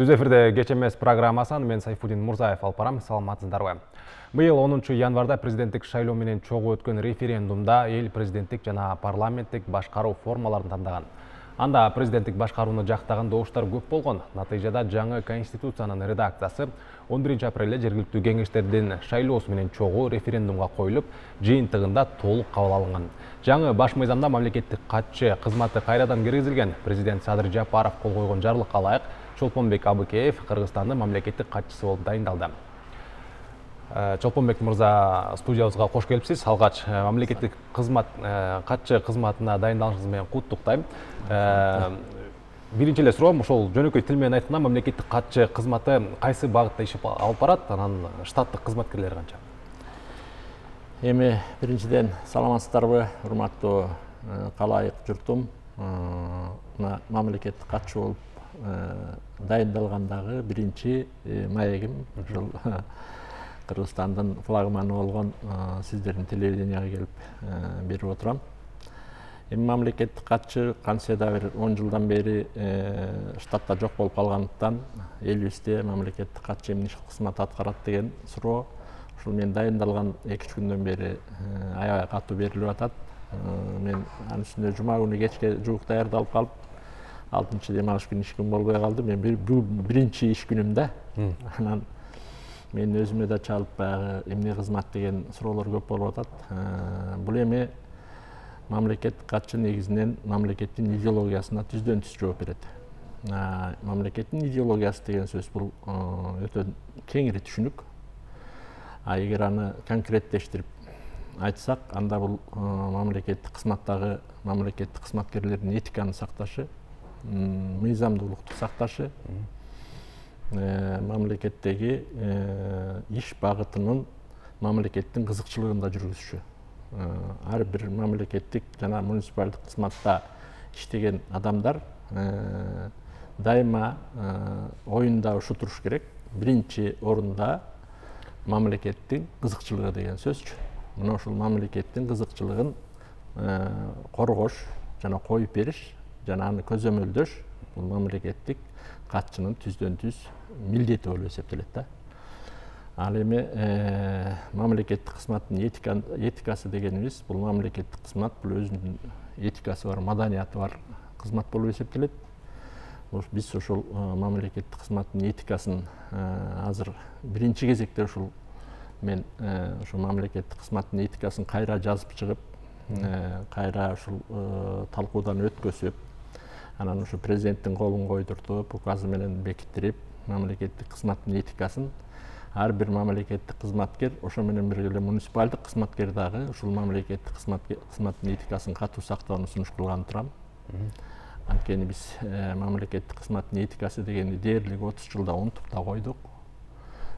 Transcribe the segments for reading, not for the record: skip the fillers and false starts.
Түз эфирде кеч эмес программасын мен Сайфудин Мурзаев алып барам. Саламатсыздарбы? Быйыл 10 январда президенттик шайлоо менен чогуу өткөн референдумда эл президенттик жана парламенттик башкаруу формаларын тандаган. Анда президенттик башкарууну жактаган добуштар көп болгон. Натыйжада жаңы конституциянын редакциясы 11 апрелде жергиликтүү кеңештердин шайлоосу менен чогуу референдумга коюлуп, жыйынтыгында толук кабыл алынган. Жаңы баш мыйзамда мамлекеттик катчы кызматы кайрадан киргизилген. Президент Садыр Жапаров кол койгон жарлыкка ылайык Чолпонбек Абыкеев Кыргызстандын мамлекеттик катчысы болуп дайындалды. Чолпонбек мырза, студиябызга кош келипсиз. Алгач мамлекеттик кызмат катчы кызматына дайындалышыңыз менен куттуктайм. Биринчи эле суроом, ошол жөнөкөй тил менен айтканда мамлекеттик катчы кызматы кайсы багытта иш алып барат, анан штаттык кызматкерлери канча? Эми биринчиден саламатсыздарбы, урматтуу калайык журтум. Мамлекеттик катчы болуп дайындалгандагы биринчи маегим ушул Кыргызстандын флагманы болгон сиздердин телевиденияга келип берип отурам. Эми мамлекеттик катчы кантсе да бир 10 жылдан бери штатта жок болуп калгандыктан элибизде мамлекеттик катчы эмне кызмат аткарат деген суроо ушул мен дайындалган 2-3 күндөн бери аябай катуу берилип атат. Мен анын үстүнө жума күнү кечке жуук даярдалып калып, 6-чы дем алыш күнү иш күн болбой калды. Мен биринчи иш күнүм да. Анан мен өзүмө да чалып баягы эмне кызмат деген суроолор көп болуп атат. Бул эми мамлекеттик катчы негизинен мамлекеттин идеологиясына түздөн түз жооп берет. Мамлекеттин идеологиясы деген сөз бул өтө кеңири түшүнүк. Эгер аны конкреттештирип айтсак, анда бул мамлекеттик кызматтагы мамлекеттик кызматкерлердин этиканы сакташы, мыйзамдуулукту сакташы, мамлекеттеги иш багытынын мамлекеттин кызыкчылыгында жүргүзүшү. Ар бир мамлекеттик жана муниципалдык кызматта иштеген адамдар дайыма оюнда ушу туруш керек. Биринчи орунда мамлекеттин кызыкчылыгы деген сөзчү. Мына ушул мамлекеттин кызыкчылыгын коргош жана коюп бериш жана аны көзөмөлдөш бул мамлекеттик катчынын түздөн түз милдети болуп эсептелет да. Ал эми мамлекеттик кызматтын этикасы дегенибиз бул мамлекеттик кызмат бул өзүнүн этикасы бар, маданияты бар кызмат болуп эсептелет. Биз ошол мамлекеттик кызматтын этикасын азыр биринчи кезекте ушул мен ошол мамлекеттик кызматтын этикасын кайра жазып чыгып, кайра ушул талкуудан өткөзүп, анан ушу президенттин колун койдуртуп, указы менен бекиттирип, мамлекеттик кызматтын этикасын ар бир мамлекеттик кызматкер, ошо менен бирге эле муниципалдык кызматкер дагы ушул мамлекеттик кызматтын этикасын катуу сактоону сунуш кылган турам. Анткени биз мамлекеттик кызматтын этикасы дегенди дээрлик 30 жылда унутуп да койдук.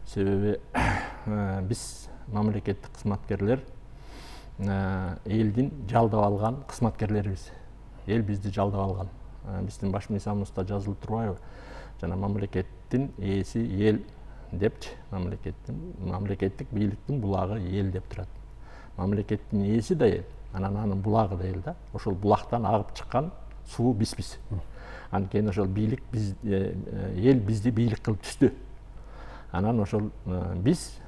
Себеби биз мамлекеттик кызматкерлер элдин жалдап алган кызматкерлерибиз. Эл бизди жалдап алган. Биздин баш мыйзамыбызда жазылып турбайбы? Жана мамлекеттин ээси эл депчи, мамлекеттик бийликтин булагы эл деп турат. Мамлекеттин ээси да эл, анан анын булагы да эл да. Ошол булактан агып чыккан суу биз. Анткени ошол бийлик биз эл бизди бийлик кылып түздү. Анан ошол биз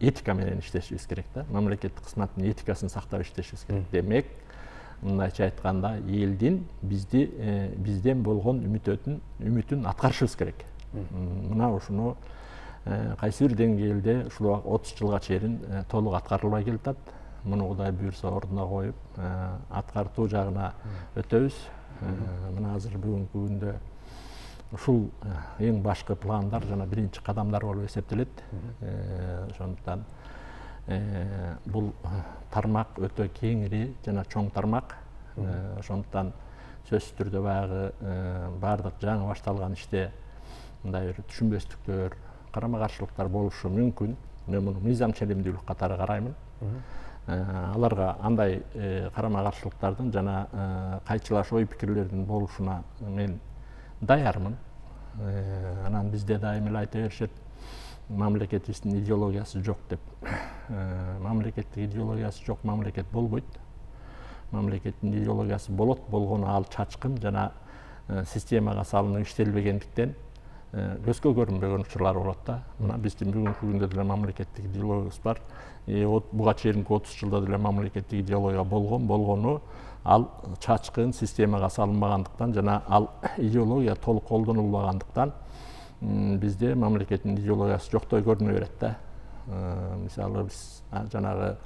этика менен иштешибиз керек да. Мамлекеттик кызматтын этикасын сактап иштешибиз керек. Демек, мындайча айтканда, элдин бизден болгон үмүтүн аткарышыбыз керек. Мына ушуну кайсы бир деңгээлде ушул 30 жылга чейин толук аткарылбай келатат. Муну Кудай буйрса ордуна коюп, аткартуу жагына өтөбүз. Мына азыр бүгүнкү күндө ушул эң башкы пландар жана биринчи кадамдар болуп эсептелет. Ошондуктан бул тармак өтө кеңири жана чоң тармак. Ошондуктан сөзсүз түрдө баягы баардык жаңы башталган иште мындай бир түшүнбөстүктөр, карама-каршылыктар болушу мүмкүн. Мен муну мыйзам ченемдүүлүк катары караймын. Аларга андай карама-каршылыктардын жана кайчылаш ой пикирлердин болушуна мен даярмын. Анан бизде дайым эле айта беришет, мамлекетибиздин идеологиясы жок деп. Мамлекеттик идеологиясы жок мамлекет болбойт. Мамлекеттин идеологиясы болот, болгону ал чачкын жана системага салынып иштелбегендиктен көзгө көрүнбөгөн учурлар болот да. Мына биздин бүгүнкү күндө деле мамлекеттик идеологиябыз бар. Буга чейинки 30 жылда деле мамлекеттик идеология болгону ал чачкын системага салынбагандыктан жана ал идеология толук колдонулбагандыктан бизде мамлекеттин идеологиясы жоктой көрүнө берет да. Мисалы биз жанагы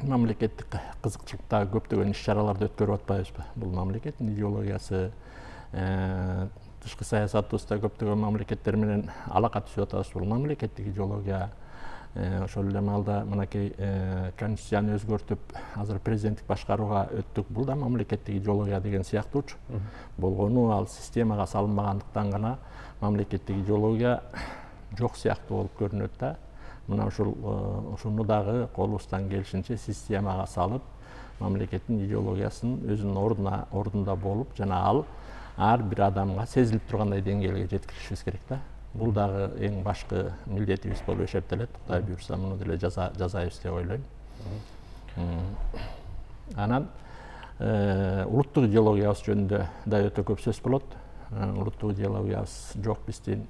мамлекеттик кызыкчылыктагы көптөгөн иш-чараларды өткөрүп атпайбызбы? Бул мамлекеттин идеологиясы. Тышкы саясатыбызда көптөгөн мамлекеттер менен алака түзүп атабыз. Бул мамлекеттик идеология. Ошол эле маалда мынакей конституцияны өзгөртүп, азыр президенттик башкарууга өттүк. Бул да мамлекеттик идеология деген сыяктуучу. Болгону ал системага салынбагандыктан гана мамлекеттик идеология жок сыяктуу болуп көрүнөт да. Мына ушуну дагы колубуздан келишинче системага салып, мамлекеттин идеологиясын өзүнүн ордунда болуп, жана ал ар бир адамга сезилип тургандай деңгээлге жеткиришибиз керек да. Бул дагы эң башкы милдетибиз болуп эсептелет. Кудай буйрса, муну деле жасайбыз деп ойлойм. Анан улуттук идеологиябыз жөнүндө да өтө көп сөз болот. Улуттук идеологиябыз жок биздин.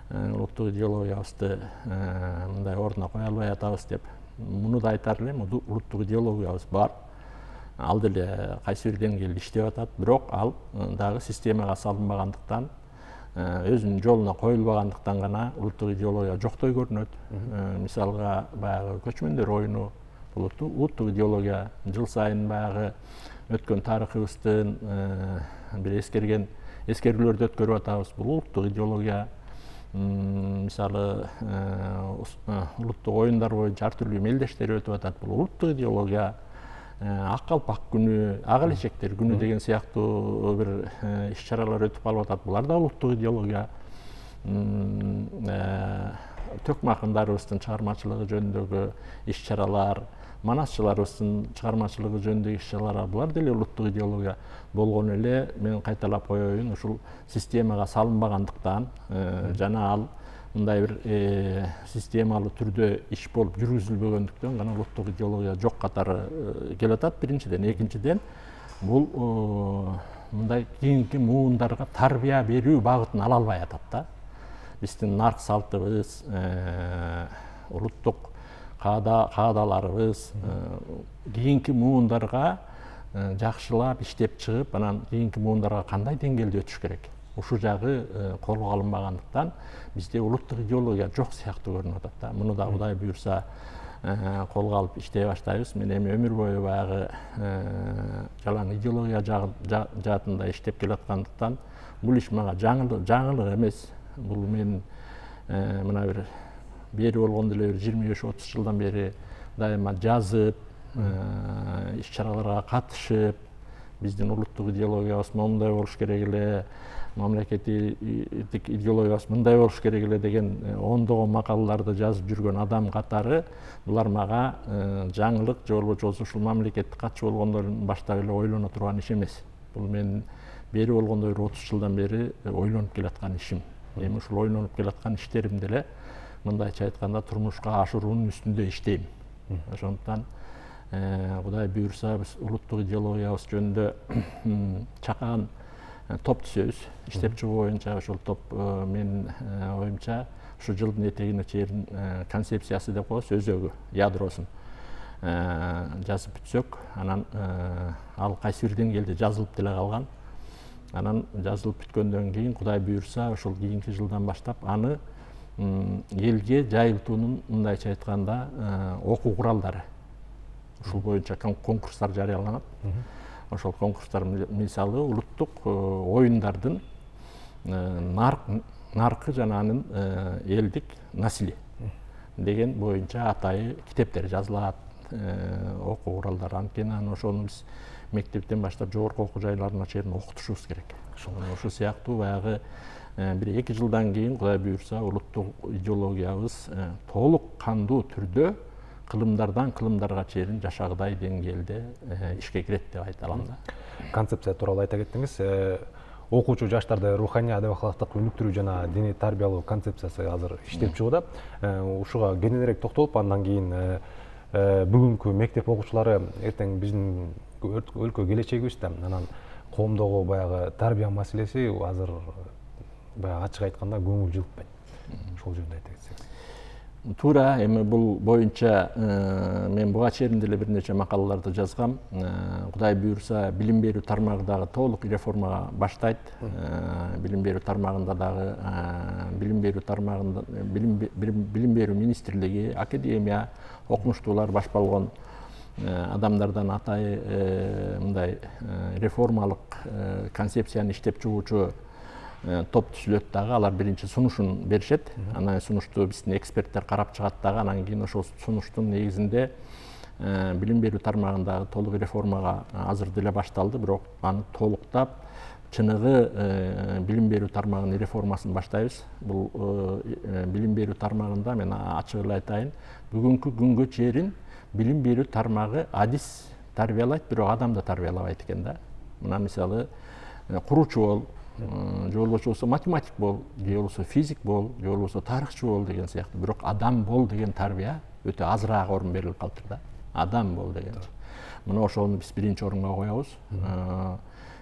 Улуттук идеологиябызды мындай ордуна кое албай атабыз деп. Муну да айтар элем, улуттук идеологиябыз бар. Ал деле кайсы бир деңгээлде иштеп атат, бирок ал дагы системага салынбагандыктан, өзүнүн жолуна коюлбагандыктан гана улуттук идеология жоктой көрүнөт. Мисалга баягы көчмөндөр оюну болот. Улуттук идеология жыл сайын баягы өткөн тарыхыбыздын бир эскерүүлөрдү өткөрүп атабыз. Бул улуттук идеология. Мисалы улуттук оюндар боюнча ар түрдүү мелдештер өтүп атат. Бул улуттук идеология. Ак калпак күнү, ак элечектер күнү деген сыяктуу бир иш-чаралар өтүп калып атат. Булар да улуттук идеология. Төкмө акындарыбыздын чыгармачылыгы жөнүндөгү иш-чаралар, манасчыларыбыздын чыгармачылыгы жөнүндөгү иш-чаралар, булар деле улуттук идеология. Болгону эле мен кайталап коеюн, ушул системага салынбагандыктан жана ал мындай бир системалуу түрдө иш болуп жүргүзүлбөгөндүктөн гана улуттук идеология жок катары келип атат. Биринчиден, экинчиден, бул мындай кийинки муундарга тарбия берүү багытын ала албай атат да. Биздин нарк салтыбыз, улуттук каадаларыбыз кийинки муундарга жакшылап иштеп чыгып, анан кийинки муундарга кандай деңгээлде өтүш керек? Ушул жагы колго алынбагандыктан бизде улуттук идеология жок сыяктуу көрүнүп атат да. Муну да Кудай буйрса колго алып иштей баштайбыз. Мен эми өмүр бою баягы жалаң идеология жаатында иштеп келаткандыктан бул иш мага жаңылык эмес. Бул мен мына бир бери болгондо эле 25-30 жылдан бери дайыма жазып, иш-чараларга катышып, биздин улуттук идеологиябыз моундай болуш керек эле, мамлекеттик идеологиябыз мындай болуш керек эле деген ондогон макалаларды жазып жүргөн адам катары булар мага жаңылык же болбосо ушул мамлекетке катчу болгондордун баштап эле ойлоно турган иш эмес. Бул мен бери болгондо 30 жылдан бери ойлонуп келаткан ишим. Эми ушул ойлонуп келаткан иштеримди эле мындайча айтканда турмушка ашыруунун үстүндө иштейм. Ошондуктан Кудай буйрса биз улуттук идеологиябыз жөнүндө чакан топ түзөбүз. Иштеп чыгуу боюнча ошол топ менин оюмча ушу жылдын этегине чейин концепциясы деп коебуз, өзөгү, ядросун жазып бүтсөк, анан ал кайсы бир деңгээлде жазылып деле калган. Анан жазылып бүткөндөн кийин Кудай буйрса ошол кийинки жылдан баштап аны элге жайылтуунун мындайча айтканда окуу куралдары. Ушул боюнча конкурстар жарыяланат. Ошол конкурстар мисалы улуттук оюндардын наркы жана анын элдик насли деген боюнча атайы китептер жазылат, окуу куралдары. Анткени ошону биз мектептен баштап жогорку окуу жайларына чейин окутушубуз керек. Ошол сыяктуу баягы бир 2 жылдан кийин Кудай буйрса улуттук идеологиябыз толук кандуу түрдө кылымдардан кылымдарга чейин жашагыдай деңгээлде ишке кирет деп айта алам да. Концепция тууралуу айта кеттиңиз. Окуучу жаштарды руханий адап акылактыкка өнүктүрүү жана диний тарбиялоо концепциясы азыр иштеп чыгууда. Ушуга кененирээк токтолуп, андан кийин бүгүнкү мектеп окуучулары эртең биздин өлкө келечегибиз да, анан коомдогу баягы тарбия маселеси азыр баягы ачык айтканда көңүл жылытпайт. Ошол жөнүндө айта кетсеңиз. Туура, эми бул боюнча мен буга чейин деле бир нече макалаларды жазгам. Кудай буйрса, билим берүү тармагы дагы толук реформага баштайт. Билим берүү тармагында дагы билим берүү министрлиги, академия, окумуштуулар баш болгон адамдардан атайы мындай реформалык концепцияны иштеп чыгуучу топ түзүлөт дагы, алар биринчи сунушун беришет. Анан сунушту биздин эксперттер карап чыгат дагы, анан кийин ошол сунуштун негизинде билим берүү тармагындагы толук реформага азыр деле башталды, бирок аны толуктап чыныгы билим берүү тармагынын реформасын баштайбыз. Бул билим берүү тармагында мен ачык эле айтайын, бүгүнкү күнгө чейин билим берүү тармагы адис тарбиялайт, бирок адамды тарбиялабайт экен да. Мына мисалы куручу бол, же болбосо математик бол, же болбосо физик бол, же болбосо тарыхчы бол деген сыяктуу. Бирок адам бол деген тарбия өтө азыраак орун берилип калыптыр да. Адам бол деген. Мына ошону биз биринчи орунга коебуз.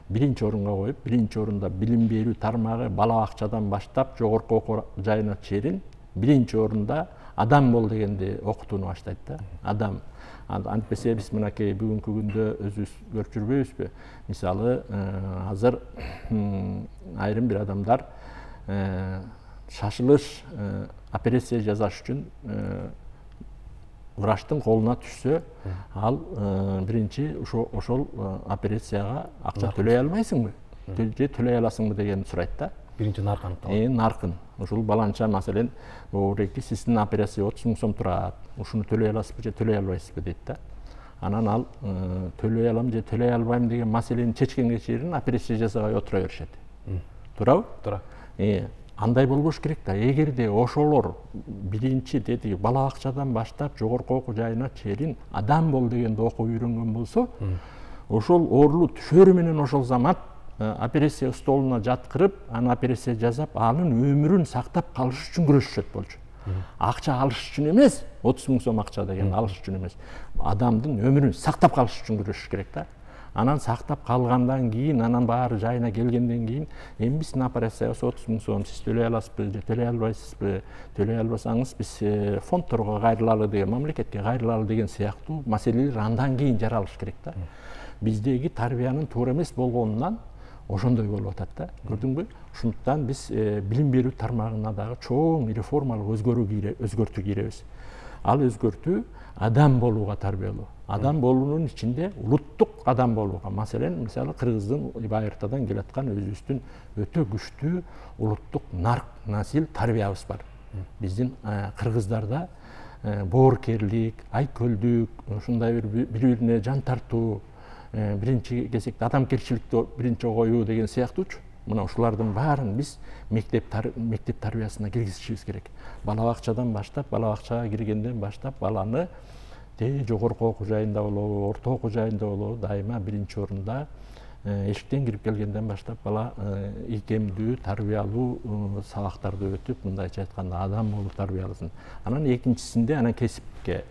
Биринчи орунга коюп, биринчи орунда билим берүү тармагы бала бакчадан баштап жогорку окуу жайына чейин биринчи орунда адам бол дегенди окутууну баштайт да. Адам. Антпесе биз мынакей бүгүнкү күндө өзүбүз көрүп жүрбөйбүзбү? Мисалы, азыр айрым бир адамдар шашылыш операция жасаш үчүн врачтын колуна түшсө, ал биринчи ошол операцияга акча төлөй албайсыңбы? Же төлөй аласыңбы деген сурайт да. Биринчи наркы аныкталат. Наркын. Ушул баланча маселен, оореки сиздин операция 30 000 сом турат. Ушуну төлөй аласызбы же төлөй албайсызбы дейт да. Анан ал төлөй алам же төлөй албайм деген маселени чечкенге чейин операция жасабай отура беришет. Туурабы? Туура. Андай болбош керек да. Эгерде ошолор биринчи деди бала бакчадан баштап жогорку окуу жайына чейин адам бол дегенди окуп үйрөнгөн болсо, ошол оорулуу түшөрү менен ошол замат операция столуна жаткырып, аны операция жасап, анын өмүрүн сактап калыш үчүн күрөшүшөт болчу. Акча алыш үчүн эмес, 30 000 сом акча деген алыш үчүн эмес. Адамдын өмүрүн сактап калыш үчүн күрөшүш керек да. Анан сактап калгандан кийин, анан баары жайына келгенден кийин, эми биздин операциябыз 30 000 сом, сиз төлөй аласызбы же төлөй албайсызбы? Төлөй албасаңыз биз фондторго кайрылалы деген, мамлекетке кайрылалы деген сыяктуу маселелер андан кийин жаралыш керек да. Биздеги тарбиянын туура эмес болгонунан ошондой болуп атат да. Көрдүңбү? Ошондуктан биз билим берүү тармагына дагы чоң реформалык өзгөртүү кийребиз. Ал өзгөртүү адам болууга тарбиялоо. Адам болуунун ичинде улуттук адам болууга. Маселен, мисалы Кыргыздын байыртадан келаткан өзүбүздүн өтө күчтүү улуттук нарк, насил тарбиябыз бар. Биздин кыргыздарда боорукерлик, айкөлдүк, ушундай бири-бирине жан тартуу, биринчи кезекте адамгерчиликти биринчи коюу деген сыяктуучу. Мына ушулардын баарын биз мектеп тарбиясына киргизишибиз керек. Бала бакчадан баштап, бала бакчага киргенден баштап баланы жогорку окуу жайында болобу, орто окуу жайында болобу, дайыма биринчи орунда эшиктен кирип келгенден баштап бала ийкемдүү, тарбиялуу сабактарды өтүп, мындайча айтканда адам болуп тарбияласын. Анан экинчисинде анан кесипке,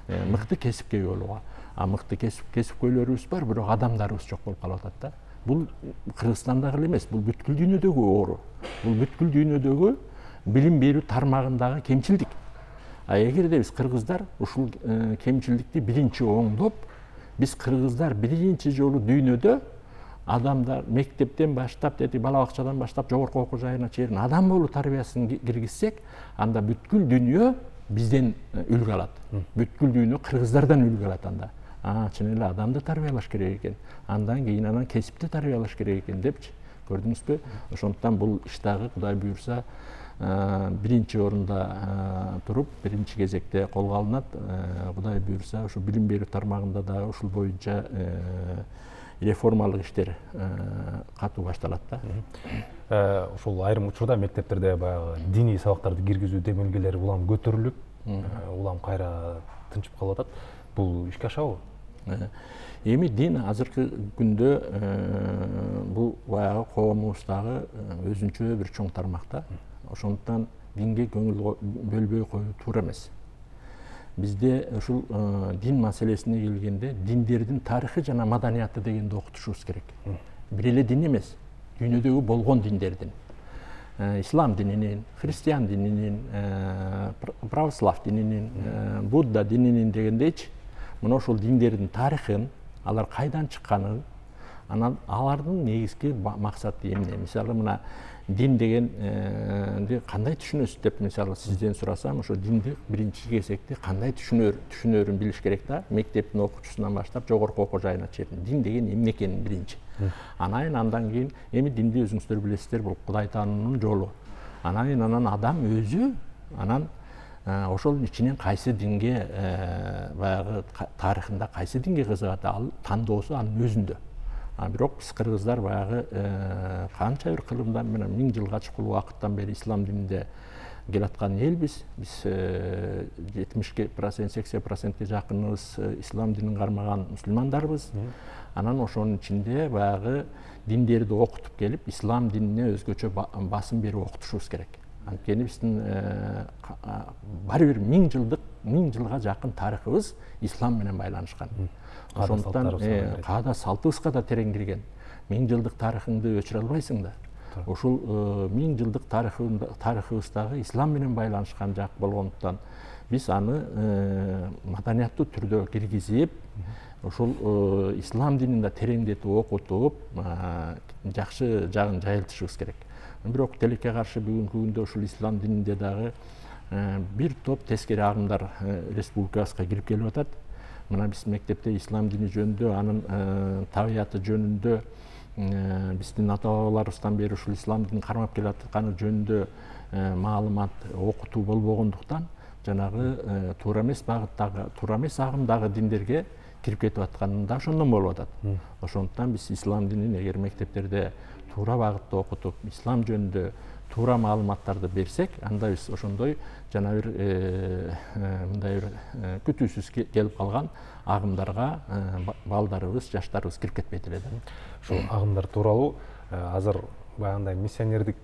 мыкты кесипке ээ болууга. Мыкты кесипкөйлөрүбүз бар, бирок адамдарыбыз жок болуп калып атат да. Бул Кыргызстанда эле эмес, бул бүткүл дүйнөдөгү оору. Бул бүткүл дүйнөдөгү билим берүү тармагындагы кемчилдик. Эгерде биз кыргыздар ушул кемчилдикти биринчи оңдоп, биз кыргыздар биринчи жолу дүйнөдө адамдар мектептен баштап, бала бакчадан баштап жогорку окуу жайына чейин адам болуу тарбиясын киргизсек, анда бүткүл дүйнө бизден үлгү алат. Бүткүл дүйнө кыргыздардан үлгү алат анда. Чын эле адамды тарбиялаш керек экен. Андан кийин анан кесипти тарбиялаш керек экен депчи. Көрдүңүзбү? Ошондуктан бул иш дагы Кудай буйрса биринчи орунда туруп, биринчи кезекте колго алынат. Кудай буйрса ушу билим берүү тармагында дагы ушул боюнча реформалык иштер катуу башталат да. Ушул айрым учурда мектептерде баягы диний сабактарды киргизүү демилгелери улам көтөрүлүп, улам кайра тынчып калып атат. Бул ишке ашабы? Эми дин азыркы күндө бул баягы коомубуздагы өзүнчө бир чоң тармакта. Ошондуктан динге көңүл бөлбөй коюу туура эмес. Бизде ушул дин маселесине келгенде диндердин тарыхы жана маданияты дегенди окутушубуз керек. Бир эле дин эмес, дүйнөдөгү болгон диндердин. ислам дининин, христиан дининин, православ дининин, будда дининин дегендейчи мына ошол диндердин тарыхын, алар кайдан чыкканын, анан алардын негизги максаты эмне? Мисалы мына дин дегенди кандай түшүнөсүз деп мисалы сизден сурасам, ошо динди биринчи кезекте кандай түшүнөрүн билиш керек да. Мектептин окуучусунан баштап жогорку окуу жайына чейин дин деген эмне экенин биринчи. Андан кийин эми динди өзүңүздөр билесиздер, бул Кудай таануунун жолу. Анан адам өзү анан ошол ичинен кайсы динге баягы тарыхында кайсы динге кызыгат, ал тандоосу анын өзүндө. Бирок биз кыргыздар баягы канча бир кылымдан менен 1000 жылга чукул убакыттан бери ислам дининде келаткан элбиз. Биз 70%, 80%ге жакыныбыз ислам динин кармаган мусулмандарбыз. Анан ошонун ичинде баягы диндерди окутуп келип, ислам динине өзгөчө басым берип окутушубуз керек. Анткени биздин баары бир 1000 жылга жакын тарыхыбыз ислам менен байланышкан. Ошондуктан каада салтыбызга да терең кирген. 1000 жылдык тарыхыңды өчүрө албайсың да. Ошол 1000 жылдык тарыхыбыздагы ислам менен байланышкан жак болгондуктан биз аны маданияттуу түрдө киргизип, ошол ислам динин да тереңдетип окутуп, жакшы жагын жайылтышыбыз керек. Бирок тилекке каршы бүгүнкү күндө ушул ислам дининде дагы бир топ тескери агымдар республикабызга кирип келип атат. Мына биз мектепте ислам дини жөнүндө, анын табияты жөнүндө, биздин ата бабаларыбыздан бери ушул ислам динин кармап келатканы жөнүндө маалымат окутуу болбогондуктан жанагы туура эмес багыттагы, туура эмес агымдагы диндерге кирип кетип атканы да ошондон болуп атат. Ошондуктан биз ислам динин эгер мектептерде туура багытта окутуп, ислам жөнүндө туура маалыматтарды берсек, анда биз ошондой жана бир мындай бир күтүүсүз келип калган агымдарга балдарыбыз, жаштарыбыз кирип кетпейт эле да. Ушул агымдар тууралуу азыр баягындай миссионердик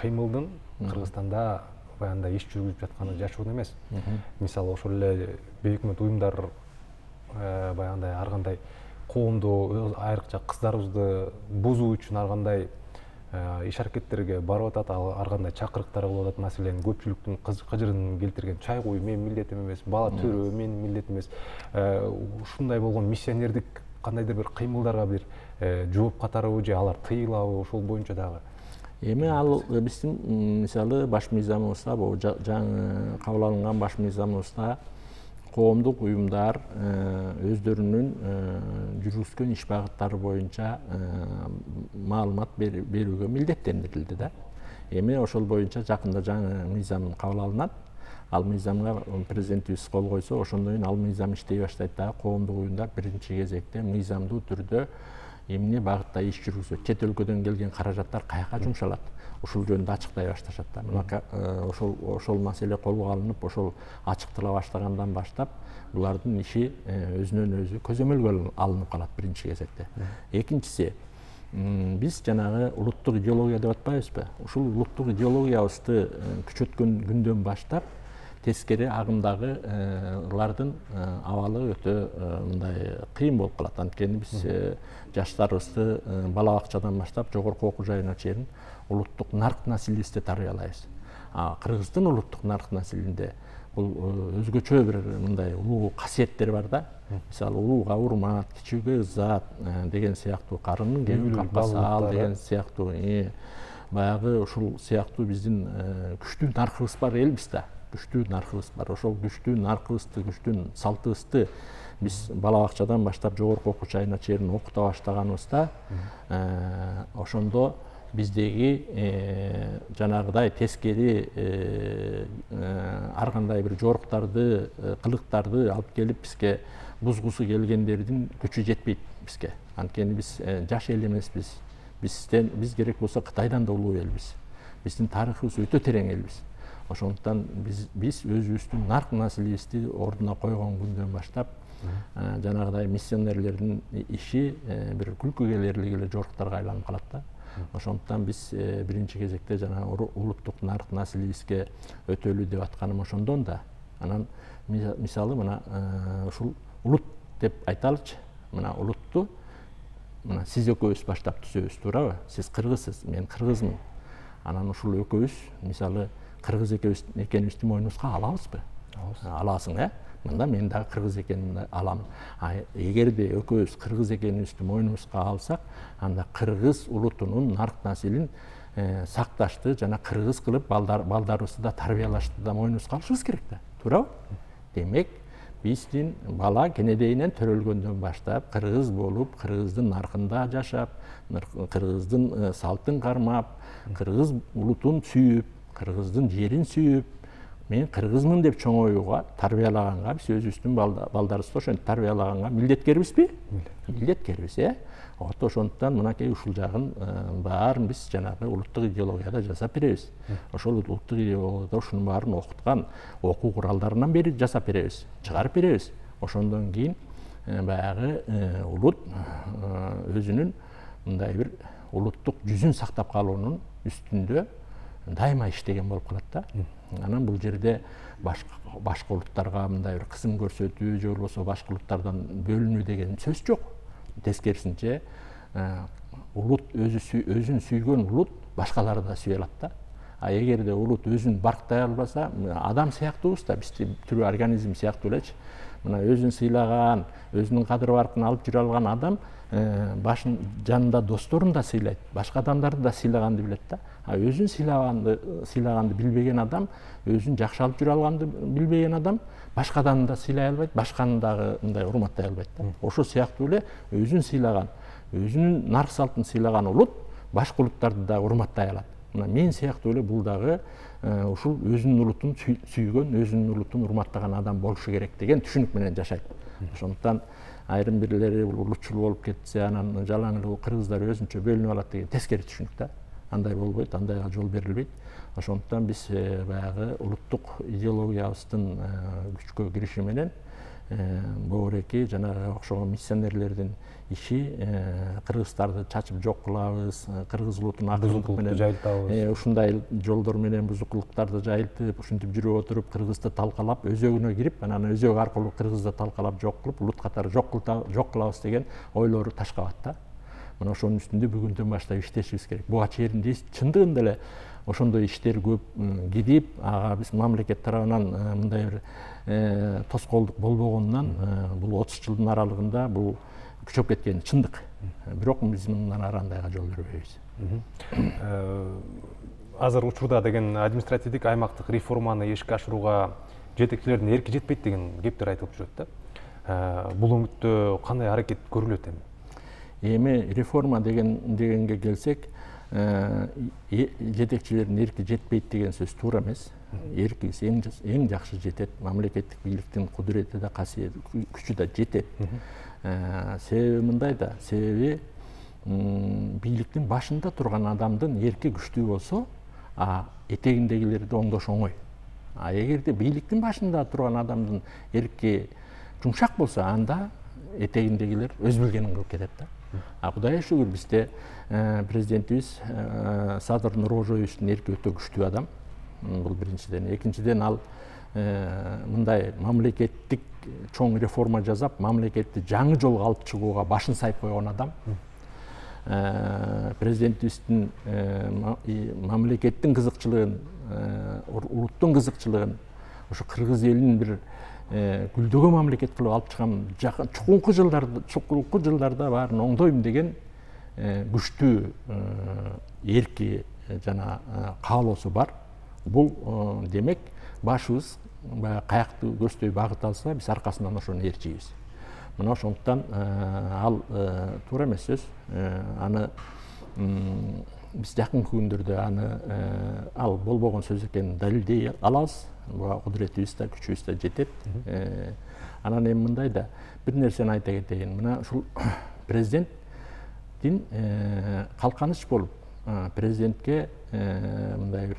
кыймылдын Кыргызстанда баягындай иш жүргүзүп жатканы жашыруун эмес. Мисалы ошол эле бейөкмөт уюмдар баягындай ар кандай коомду, айрыкча кыздарыбызды бузуу үчүн ар кандай иш аракеттерге барып атат, ар кандай чакырыктар кылып атат. Маселен, көпчүлүктүн кыжырын келтирген чай куюу менин милдетим эмес, бала төрөө менин милдетим эмес. Ушундай болгон миссионердик кандайдыр бир кыймылдарга бир жооп катарыбы же алар тыйылабы, ошол боюнча дагы? Эми ал биздин мисалы баш мыйзамыбызда, бул жаңы кабыл алынган баш мыйзамыбызда коомдук уюмдар өздөрүнүн жүргүзгөн иш багыттары боюнча маалымат берүүгө милдеттендирилди да. Эми ошол боюнча жакында жаңы мыйзам кабыл алынат. Ал мыйзамга президентибиз кол койсо, ошондон кийин ал мыйзам иштей баштайт дагы. Коомдук уюмдар биринчи кезекте мыйзамдуу түрдө эмне багытта иш жүргүзөт, чет өлкөдөн келген каражаттар каяка жумшалат, ушул жөнүндө ачыктай башташат да. Мына ошол маселе колго алынып, ошол ачыктала баштагандан баштап булардын иши өзүнөн өзү көзөмөлгө алынып калат биринчи кезекте. Экинчиси, биз жанагы улуттук идеология деп атпайбызбы? Ушул улуттук идеологиябызды күчөткөн күндөн баштап тескери агымдагылардын абалы өтө мындай кыйын болуп калат. Анткени биз жаштарыбызды бала бакчадан баштап жогорку окуу жайына чейин улуттук нарк насилибизди тарбиялайбыз. Кыргыздын улуттук нарк насилинде бул өзгөчө бир мындай улуу касиеттер бар да. Мисалы, улууга урмат, кичүүгө ызат деген сыяктуу, карындын кебин капка саал деген сыяктуу, баягы ушул сыяктуу биздин күчтүү наркыбыз бар элбиз да. Күчтүү наркыбыз бар. Ошол күчтүү наркыбызды, күчтүү салтыбызды биз бала бакчадан баштап жогорку окуу жайына чейин окута баштаганыбызда, ошондо биздеги жанагыдай тескери ар кандай бир жоруктарды, кылыктарды алып келип бизге бузгусу келгендердин күчү жетпейт бизге. Анткени биз жаш эл эмеспиз. Биз керек болсо Кытайдан да улуу элбиз. Биздин тарыхыбыз өтө терең элбиз. Ошондуктан биз өзүбүздүн нарк насилибизди ордуна койгон күндөн баштап жанагыдай миссионерлердин иши бир күлкү келерлик эле жоруктарга айланып калат да. Ошондуктан биз биринчи кезекте жана улуттук нарк насилибизге өтөлүү деп атканым ошондон да. Анан мисалы мына ушул улут деп айталычы. Мына улутту мына сиз экөөбүз баштап түзөбүз, туурабы? Сиз кыргызсыз, мен кыргызмын. Анан ушул экөөбүз мисалы кыргыз экенибизди мойнубузга алабызбы? Аласың, мында мен дагы кыргыз экенимди алам. Эгерде экөөбүз кыргыз экенибизди мойнубузга алсак, анда кыргыз улутунун нарк насилин сакташты жана кыргыз кылып балдарыбызды да тарбиялашты да мойнубузга алышыбыз керек да. Туурабы? Демек, биздин бала кенедейинен төрөлгөндөн баштап кыргыз болуп, кыргыздын наркында жашап, кыргыздын салтын кармап, кыргыз улутун сүйүп, кыргыздын жерин сүйүп, мен кыргызмын деп чоңоюуга, тарбиялаганга, биз өзүбүздүн балдарыбызды ошентип тарбиялаганга милдеткербизби? Милдеткербиз, ошондуктан мынакей ушул жагын баарын биз жанагы улуттук идеологияда жасап беребиз. Ошол улуттук идеологияда ушунун баарын окуткан окуу куралдарынан бери жасап беребиз, чыгарып беребиз. Ошондон кийин баягы улут өзүнүн мындай бир улуттук жүзүн сактап калуунун үстүндө дайыма иштеген болуп калат да. Анан бул жерде башка улуттарга мындай бир кысым көрсөтүү же болбосо башка улуттардан бөлүнүү деген сөз жок. Тескерисинче улут өзүн сүйгөн улут башкаларды да сүйө алат да. Эгерде улут өзүн барктай албаса, адам сыяктуубуз да, биз тирүү организм сыяктуу элечи. Мына өзүн сыйлаган, өзүнүн кадыр баркын алып жүрө алган адам башын жанында досторун да сыйлайт, башка адамдарды да сыйлаганды билет да. Өзүн сыйлаганды билбеген адам, өзүн жакшы алып жүрө алганды билбеген адам башка адамды да сыйлай албайт, башканы дагы мындай урматтай албайт да. Ошол сыяктуу эле өзүн сыйлаган, өзүнүн нарк салтын сыйлаган улут башка улуттарды да урматтай алат. Мына мен сыяктуу эле бул дагы ушул өзүнүн улутун сүйгөн, өзүнүн улутун урматтаган адам болушу керек деген түшүнүк менен жашайт. Ошондуктан айрым бирлери улутчул болуп кетсе, анан жалаң эле кыргыздар өзүнчө бөлүнүп алат деген тескери түшүнүк да. Андай болбойт, андайга жол берилбейт. Ошондуктан биз баягы улуттук идеологиябыздын күчкө кириши менен богореки жанагы окшогон миссионерлердин иши кыргыздарды чачып жок кылабыз, кыргыз улутун акылдык менен жайылтабыз. Ушундай жолдор менен бузукулуктарды жайылтып, ушинтип жүрүп отуруп, кыргызды талкалап, өзөгүнө кирип, анан өзөк аркылуу кыргызды талкалап жок кылып, улут катары жок кылабыз деген ойлору ташкабат да. Мына ошонун үстүндө бүгүндөн баштап иштешибиз керек. Буга чейин чындыгында эле ошондой иштер көп кидип, ага биз мамлекет тарабынан мындай бир тоскоолдук болбогондон бул 30 жылдын аралыгында бул күчөп кеткени чындык. Бирок биз мындан ары андайга жол бербейбиз. Азыр учурда деген административдик аймактык реформаны ишке ашырууга жетекчилердин эрки жетпейт деген кептер айтылып жүрөт да. Бул өңүттө кандай аракет көрүлөт эми? Эми реформа дегенге келсек, жетекчилердин эрки жетпейт деген сөз туура эмес. Эркибиз эң жакшы жетет, мамлекеттик бийликтин кудурети да, күчү да жетет. Себеби мындай да, себеби бийликтин башында турган адамдын эрки күчтүү болсо, этегиндегилерди оңдош оңой. Эгерде бийликтин башында турган адамдын эрки жумшак болсо, анда этегиндегилер өз билгенин кылып кетет да. Кудайга шүгүр, бизде президентибиз Садыр Нуркожоевичтин эрки өтө күчтүү адам. Бул биринчиден. Экинчиден, ал мындай мамлекеттик чоң реформа жасап, мамлекетти жаңы жолго алып чыгууга башын сайып койгон адам. Президентибиздин мамлекеттин кызыкчылыгын, улуттун кызыкчылыгын ошо кыргыз элинин бир гүлдөгөн мамлекет кылып алып чыгам, чукулку жылдарда баарын оңдойм деген күчтүү эрки жана каалоосу бар. Бул демек башыбыз каякты көздөй багыт алса, биз аркасынан ошону ээрчийбиз. Мына ошондуктан ал туура эмес сөз. Аны биз жакынкы күндөрдө ал болбогон сөз экенин далилдей алабыз. Буга кудуретибиз да, күчүбүз да жетет. Анан эми мындай да бир нерсени айта кетейин. Мына ушул президенттин калканыч болуп, президентке мындай бир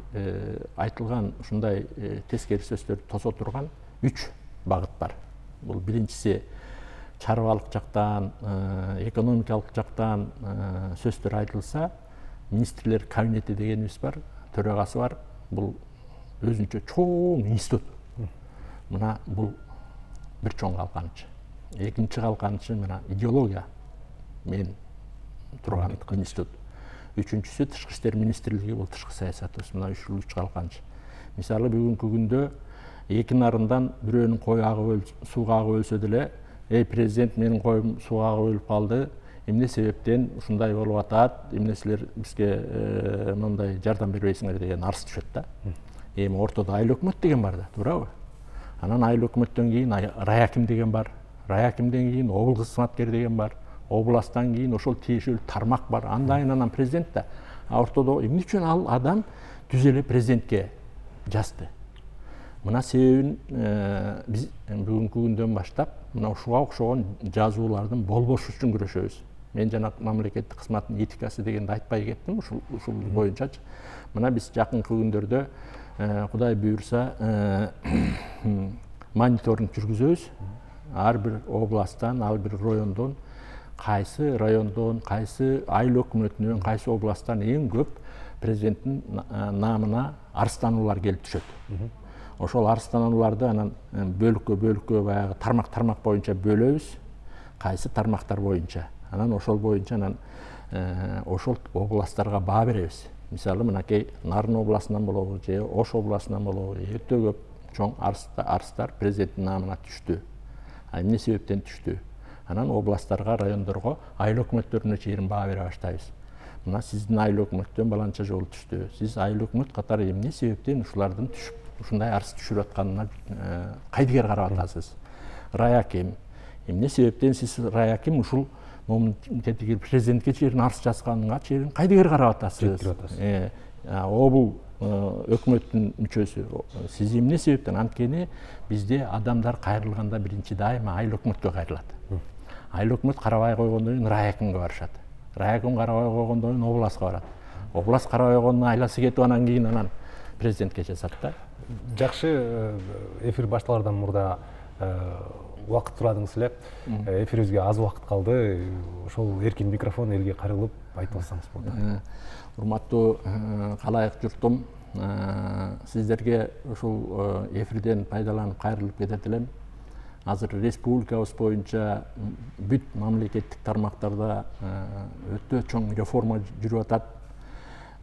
айтылган ушундай тескери сөздөрдү тосо турган 3 багыт бар. Бул биринчиси чарбалык жактан, экономикалык жактан сөздөр айтылса, министрлер кабинети дегенибиз бар, төрагасы бар. Бул өзүнчө чоң институт. Мына бул бир чоң калканыч. Экинчи калканычы мына идеология мен турган институт. үчүнчүсү тышкы иштер министрлиги, бул тышкы саясатыбыз мына 3 жыл 3 калканчы. Мисалы бүгүнкү күндө эки нарындан бирөөнүн кою сууга агып өлсө деле, президент менин коюм сууга агып өлүп калды, эмне себептен ушундай болуп атат, эмне силер бизге мындай жардам бербейсиңер деген арыз түшөт да. Эми ортодо айыл өкмөт деген бар да, туурабы? Анан айыл өкмөттөн кийин райаким деген бар. Райакимден кийин обул кызматкер деген бар. Областан кийин ошол тиешелүү тармак бар. Андан президент да. Ортодо эмне үчүн ал адам түз эле президентке жазды? Мына себебин биз бүгүнкү күндөн баштап мына ушуга окшогон жазуулардын болбошу үчүн күрөшөбүз. Мен жана мамлекеттик кызматтын этикасы дегенди айтпай кеттим ушул боюнчачы. Мына биз жакынкы күндөрдө Кудай буйрса мониторинг жүргүзөбүз. Ар бир областтан, ар бир райондон, кайсы райондон, кайсы айыл өкмөтүнөн, кайсы областтан эң көп президенттин наамына арыздануулар келип түшөт. Ошол арызданууларды анан бөлүккө баягы тармак боюнча бөлөбүз. Кайсы тармактар боюнча. Анан ошол боюнча анан ошол областтарга баа беребиз. Мисалы мынакей Нарын областынан болобу, же Ош областынан болобу, өтө көп чоң арыздар президенттин наамына түштү. Эмне себептен түштү? Анан областтарга, райондорго, айыл өкмөттөрүнө чейин баа бере баштайбыз. Мына сиздин айыл өкмөттөн баланча жолу түштү. Сиз айыл өкмөт катары эмне себептен ушулардын түшүп, ушундай арыз түшүрүп атканына кайдыгер карап атасыз? Райаким, эмне себептен сиз райаким ушул президентке чейин арыз жазганга чейин кайдыгер карап атасыз? Обул өкмөттүн мүчөсү, сиз эмне себептен? Анткени бизде адамдар кайрылганда биринчи дайыма айыл өкмөткө кайрылат. Айыл өкмөт карабай койгондон кийин райакимге барышат. Райаким карабай койгондон кийин областка барат. Област карабай койгондон айласы кетип анан кийин анан президентке жазат да. Жакшы, эфир башталардан мурда убакыт сурадыңыз эле. Эфирибизге аз убакыт калды. Ошол эркин микрофон элге кайрылып айтып алсаңыз болот. Урматтуу калайык журтум, сиздерге ушул эфирден пайдаланып кайрылып кетет элем. Азыр республикабыз боюнча бүт мамлекеттик тармактарда өтө чоң реформа жүрүп атат.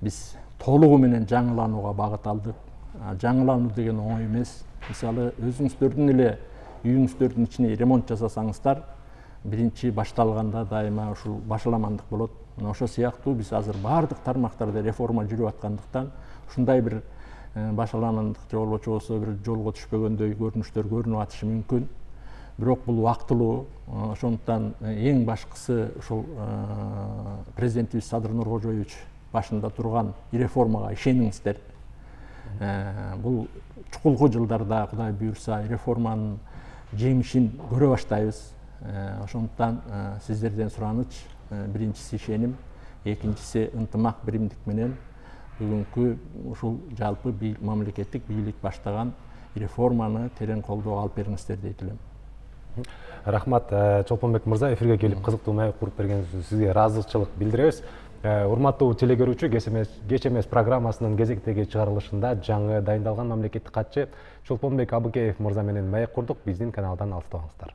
Биз толугу менен жаңыланууга багыт алдык. Жаңылануу деген оңой эмес. Мисалы, өзүңүздөрдүн эле үйүңүздөрдүн ичине ремонт жасасаңыздар, биринчи башталганда дайыма ушул башаламандык болот. Мына ошол сыяктуу биз азыр баардык тармактарда реформа жүрүп аткандыктан ушундай бир башаламандык же болбочу болсо бир жолго түшпөгөндөй көрүнүштөр көрүнүп атышы мүмкүн. Бирок бул убактылуу. Ошондуктан эң башкысы ушул президентибиз Садыр Нуркожоевич башында турган реформага ишениңиздер. Бул чукулку жылдарда Кудай буйрса реформанын жемишин көрө баштайбыз. Ошондуктан сиздерден сураныч, биринчиси ишеним, экинчиси ынтымак, биримдик менен бүгүнкү ушул жалпы мамлекеттик бийлик баштаган реформаны терең колдоого алып бериңиздер дейт элем. Рахмат, Чолпонбек мырза, эфирге келип кызыктуу маек куруп бергениңиз үчүн сизге ыраазычылык билдиребиз. Урматтуу телегөрүүчү, Кеч эмес программасынын кезектеги чыгарылышында жаңы дайындалган мамлекеттик катчы Чолпонбек Абыкеев мырза менен маек курдук. Биздин каналдан алыстабаңыздар.